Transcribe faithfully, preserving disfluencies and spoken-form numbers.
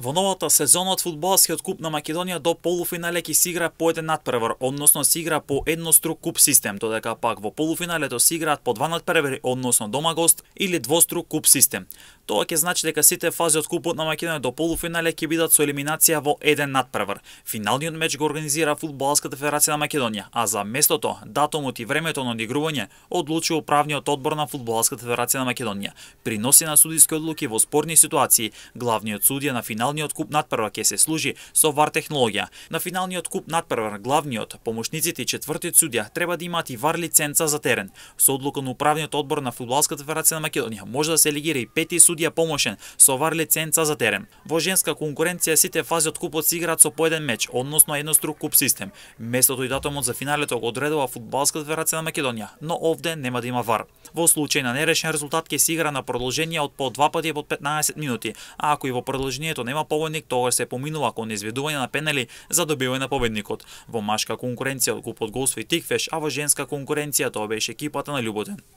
Во новата сезона од фудбалскиот куп на Македонија до полуфинале ќе се игра по еден надпревар, односно се игра по еднострук куп систем, додека пак во полуфиналето се играат по два надпревари, односно дома гост или двострук куп систем. Тоа ќе значи дека сите фази од купот на Македонија до полуфинале ќе бидат со елиминација во еден надпревар. Финалниот меч го организира Фудбалската федерација на Македонија, а за местото, датумот и времето на одигрување одлучи управниот одбор на Фудбалската федерација на Македонија. Приноси на судиски одлуки во спорни ситуации, главниот судија на финалниот куп надпревар ќе се служи со вар технологија. На финалниот куп надпревар главниот, помошниците и четвртиот судија треба да имаат и вар лиценца за терен. Со одлука на управниот одбор на Фудбалската федерација на Македонија може да се елегира и пети судија помошен со вар лиценца за терен. Во женска конкуренција сите фази од купот се играат со по еден меч, односно еднострук куп систем. Местото и датумот за финалето го одредува Фудбалската федерација на Македонија, но овде нема да има вар. Во случај на нерешен резултат ќе се игра на продолжение од по два пати по петнаесет минути, а ако и во продолжението нема победник, тогаш се поминува кон изведување на пенали за добивање на победникот. Во машка конкуренција од купот го освои Тикфеш, а во женска конкуренција тоа беше екипата на Љуботен.